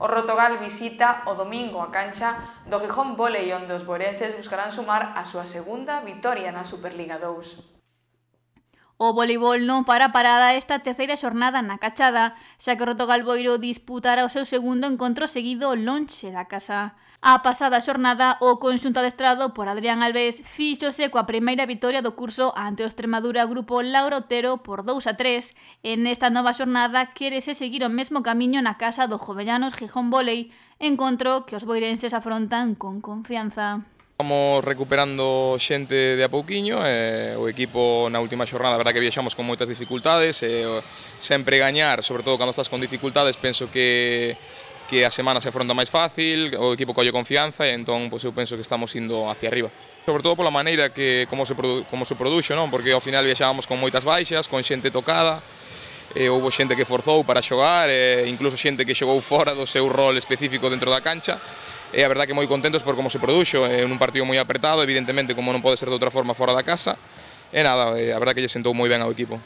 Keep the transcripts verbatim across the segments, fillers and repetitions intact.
O Rotogal visita o domingo a cancha do Gijón Volei, onde os boirenses buscarán sumar a súa segunda vitoria na Superliga dous. O voleibol non para parada esta terceira xornada na Cachada, xa que o Rotogal Boiro disputará o seu segundo encontro seguido lonxe da casa. A pasada xornada, o conxunto adestrado por Adrián Alves fíxose coa primeira vitoria do curso ante o Extremadura Grupo Lauro Otero por dous a tres, e nesta nova xornada quérese seguir o mesmo camiño na casa do Jovellanos Gijón Volei, encontro que os boirenses afrontan con confianza. Estamos recuperando xente de a pouquiño, e o equipo na última xornada, a verdad que viaxamos con moitas dificultades, e sempre gañar, sobre todo cando estás con dificultades, penso que que a semana se afronta máis fácil, o equipo colle confianza e entón pois, eu penso que estamos indo hacia arriba. Sobre todo pola maneira que como se, produ como se produxo, non? Porque ao final viaxábamos con moitas baixas, con xente tocada, e houve xente que forzou para xogar, e incluso xente que xogou fora do seu rol específico dentro da cancha, e a verdad que moi contentos por como se produxo, en un partido moi apretado, evidentemente como non pode ser de outra forma fora da casa, e nada, a verdad que lle sentou moi ben ao equipo.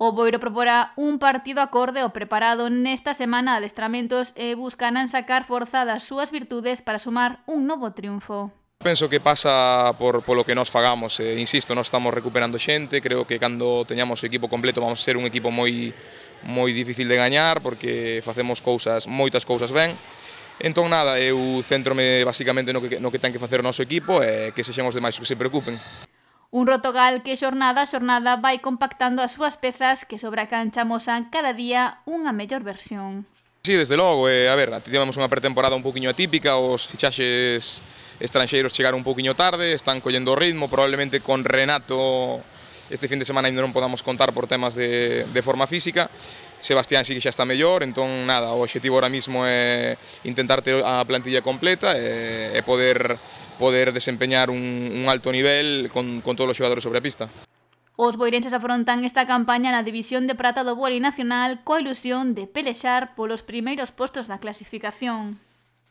O Boiro proporá un partido acorde ao preparado nesta semana de adestramentos e buscarán sacar forza das súas virtudes para sumar un novo triunfo. Penso que pasa por polo que nos fagamos, eh, insisto, nós estamos recuperando xente, creo que cando teñamos o equipo completo vamos a ser un equipo moi moi difícil de gañar porque facemos cousas, moitas cousas ben. Entón nada, eu centrome basicamente no que, no que ten que facer o noso equipo e que sexan os demais que se preocupen. Un Rotogal que xornada a xornada vai compactando as súas pezas que sobre a cancha amosan cada día unha mellor versión. Sí, desde logo, eh, a ver, tivemos unha pretemporada un poquinho atípica, os fichaxes estranxeiros chegaron un poquinho tarde, están collendo o ritmo, probablemente con Renato este fin de semana ainda non podamos contar por temas de, de forma física. Sebastián sí que xa está mellor, entón nada, o obxectivo ahora mismo é intentar ter a plantilla completa e, e poder, poder desempeñar un, un alto nivel con, con todos os xogadores sobre a pista. Os boirenses afrontan esta campaña na división de prata do vólei nacional coa ilusión de pelexar polos primeiros postos da clasificación.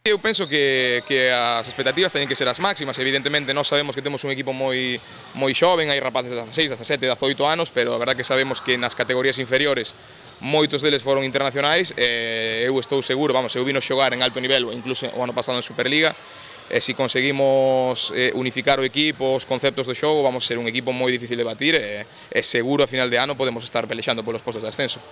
Eu penso que, que as expectativas teñen que ser as máximas, evidentemente nós sabemos que temos un equipo moi, moi xoven, hai rapaces de dezaseis, dezasete, dezaoito anos, pero a verdad que sabemos que nas categorías inferiores moitos deles foron internacionais e eu estou seguro, vamos, eu vino xogar en alto nivel, incluso o ano pasado en Superliga, e se conseguimos eh, unificar o equipo, os conceptos do xogo, vamos a ser un equipo moi difícil de batir e, e seguro a final de ano podemos estar pelexando polos postos de ascenso.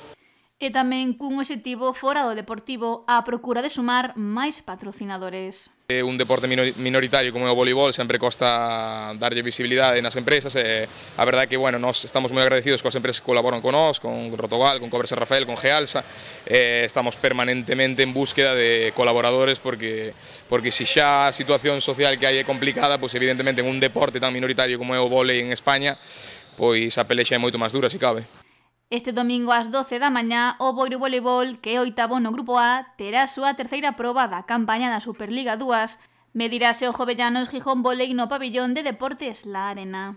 E tamén cun obxectivo fora do deportivo a procura de sumar máis patrocinadores. Un deporte minoritario como é o voleibol sempre costa darlle visibilidade nas empresas e a verdade é que bueno, nós estamos moi agradecidos coas empresas que colaboran con nós, con Rotogal, con Cobre San Rafael, con Gealsa, e estamos permanentemente en búsqueda de colaboradores porque porque se xa a situación social que hai é complicada, pois evidentemente en un deporte tan minoritario como é o vólei en España, pois a pelexa é moito máis dura, se cabe. Este domingo ás doce da mañá, o Boiro Voleibol, que é oitavo no Grupo A, terá a súa terceira proba da campaña da Superliga dous, medirase o Jovellanos Gijón Volei no pabillón de Deportes La Arena.